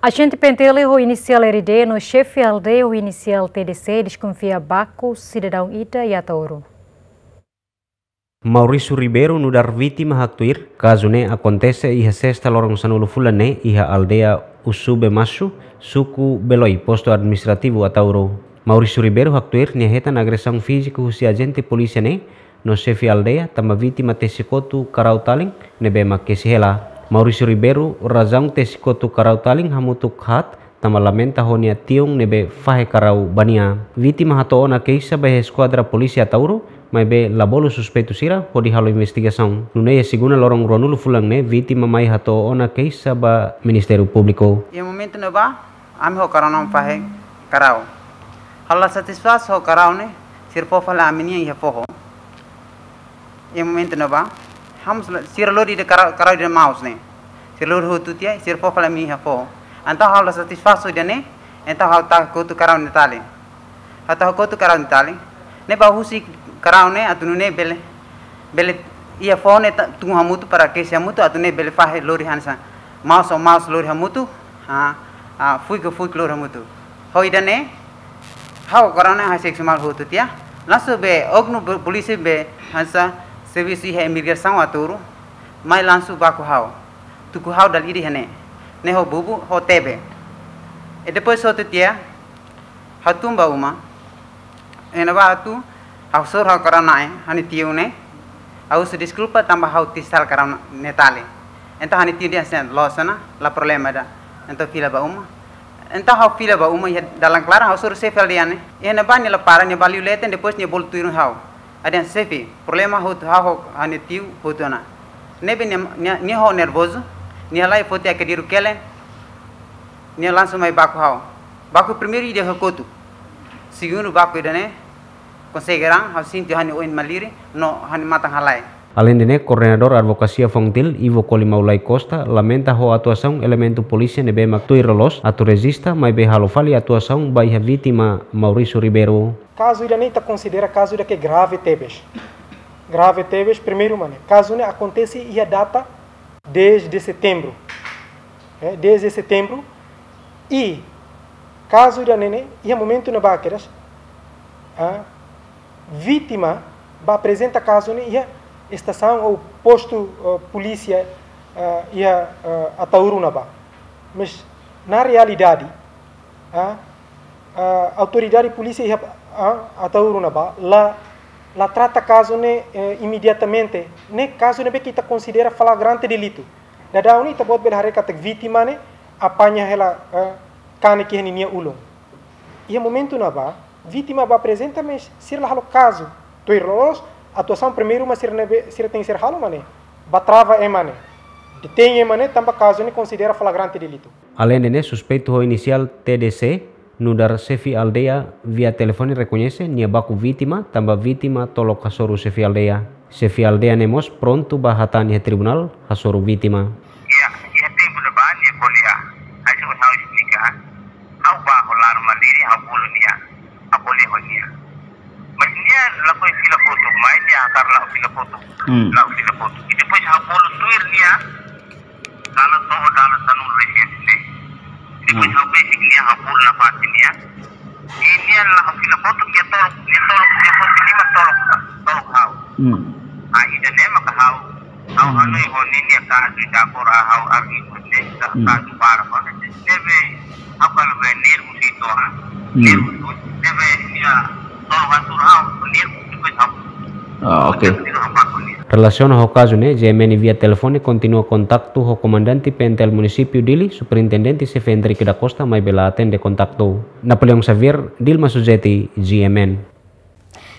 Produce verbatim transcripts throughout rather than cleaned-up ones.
Ajente P N T L ho inisiál R D no xefe aldeia ho inisiál T D C deskonfia baku sidadaun ida iha Ataúro. Maurício Ribeiro nu'udar vítima haktuir, kazu ne'e akontese iha sesta loron sanulu fulan ne'e iha aldeia Usube Masu, suku Beloi, postu administrativu Ataúro. Maurício Ribeiro haktuir nia hetan agresaun fíziku husi ajente polísia ne'e no xefe aldeia, tanba vítima tesi kotu karau talin ne'ebé mak kesi hela. Maurício Ribeiro razaun tesi kotu karau talin hamutuk haat, tanba lamenta ho nia tiun ne'ebé fahe karau ba nia. Vítima hato'o ona keixa ba iha eskuadra polísia Ataúro, maibé la bolu suspeitu sira hodi halo investigasaun. Nune'e iha segunda loron ruanulu fulan ne'e vítima mai hato'o ona keixa ba Ministériu Públiku. Iha momentu ne'ebá, ami ho karau-na'in fahe karau. Ha'u la satisfás ho karau ne'e, sira fó fali ami-nian iha foho. Iha momentu ne'ebá, ha'u mós la, sira lori ida karau, karau ida maus ne'e. Sira lori hotu tiha, sira fó fali ami iha foho. Entaun ha'u la satisfás ho ida-ne'e, entaun ha'u tau kotu karau ne'e tali. Ha'u tau kotu karau ne'e tali. Ne'ebé husik karau ne'e atu nune'e bele, bele iha foho ne'e ta-, tun hamutuk para kesi hamutuk atu nune'e bele fahe lori hanesan maus ho maus lori hamutuk, ah, ah, fuik ho fuik lori hamutuk. Ho ida-ne'e, ha'u karau ne'e ha'u seksuál hotu tiha. Langsung be oknum be polísia be hanesan servisu iha imigrasaun Ataúro, mai langsung baku ha'u. Tuku ha'u dala ida iha ne'e. Ne'e ho bubu, ho tebe. E depois hotu tiha, ha'u tun ba uma. Iha ne'ebá ha'u tun, ha'u hasoru ha'u karau-na'in, ha'u-nia tiun ne'e. Ha'u husu deskulpa tanba ha'u tesi hela karau-na'in ne'e tali. Entaun ha'u-nia tiun dehan hanesan loos ona, la problema ida. Entaun fila ba uma. Entaun ha'u fila ba uma, iha dalan klaran ha'u hasoru xefe aldeia ne'e. Iha ne'ebá nia la para, nia bá liu leten, depois nia bolu tuirmai ha'u. Ha'u dehan xefe, problema hotu ha'u ho ha'u-nia tiun hotu ona. Ne'ebé nia, nia, nia ho nervozu, nia halai foti ai-kadeiru kelen, nia langsung mai baku ha'u. Baku primeiru ida ho kotu. Segundu baku ida-ne'e, konsege raan, ha'u sente ha'u-nia oin malirin, no ha'u-nia matan halai. Aleinde ne'e, Koordenadór Advokasia FONGTIL, Ivo Kolimau Lai Costa, lamenta ho atuasaun elementu polísia ne'ebé mak tuir loloos atu rejista, maibé halo fali atuasaun ba iha vítima Maurício Ribeiro. Kazu ida-ne'e ita konsidera kazu ida ke grave tebes. Grave tebes, primeiru mak ne'e, kazu ne'e akontese iha data dez de setembro. Eh, dez de setembro. I kazu ida-ne'e ne'e, iha momentu ne'ebá kedas, ah, vítima bá aprezenta kazu ne'e iha estasaun ou postu, eh, polísia, eh, iha, eh, Ataúro ne'ebá. Mas, na realidade, ah, ah, autoridade polísia iha, ah, Ataúro ne'ebá la, la trata kazu ne'e, eh, imediatamente. Ne'e kazu ne'ebé ke ita konsidera flagrante delitu. Daudaun ne'e ita-boot bele haree katak vítima ne'e apaña hela, eh, kanek iha ninia ulun. Iha momentu ne'ebá, vítima bá aprezenta, mas sira la halo kazu. Tuir loloos, atuasaun primeiru mak sira ne'ebé, sira tenke ser halo mak ne'e. Bá trava ema ne'e. Detein ema ne'e, tanba kazu ne'e konsidera flagrante delitu. Aleinde ne'e, suspeitu ho inisiál T D C, nu'udar xefe aldeia via telefone rekoñese nia baku vítima, tanba vítima tolok hasoru xefe aldeia. Xefe aldeia ne'e mós prontu bá hatán iha tribunál hasoru vítima. Iha, iha tempu ne'ebá nia ko'alia. Hanesan ha'u esplika. Ha'u bá hola ruma diri, ha'u bolu nia. Ha'u ko'alia ho nia. Mas nia lakohi fila kotuk, mai nia hakarak la'o fila kotuk. Hmm. La'o fila kotuk. I depois ha'u bolu tuir nia. Dalan to'o dalan sanulu resin ne'e. Depois, hmm, ha'u besik nia, ha'u bolu nafatin nia. I nia la'o fila kotuk, nia tolok, nia tolok, nia tolok, nia tolok ha'u. Hmm. Ah, ida-ne'e maka ha'u, ha'u, hmm, hanoin ho ninia kazu ida agora ha'u argi ho nia, hmm, kazu barak ho nia. Ne'ebé, ha'u kala be nervozu ituan, ah. Hmm. Nervozu, ne'ebé nia tolok hasoru ha'u, nervozu, depois ha'u. Ah, oke. Relasiona ho kazu ne'e, G M N via telefone kontinua kontaktu ho Komandante P N T L Munisípiu Dili, Superintendente Xefe Henrique da Costa, maibé la atende kontaktu. Napoleão Xavier, Dilma Suzeti, G M N.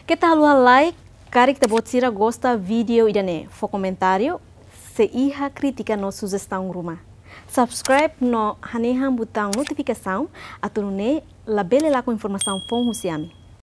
Keta haluha like, karik ita-boot sira gosta vídeo ida-ne'e, fó komentáriu, se iha krítika no sujestaun ruma. Subscribe no hanehan butaun notifikasaun, atu nune'e labele lakon informasaun foun husi ami.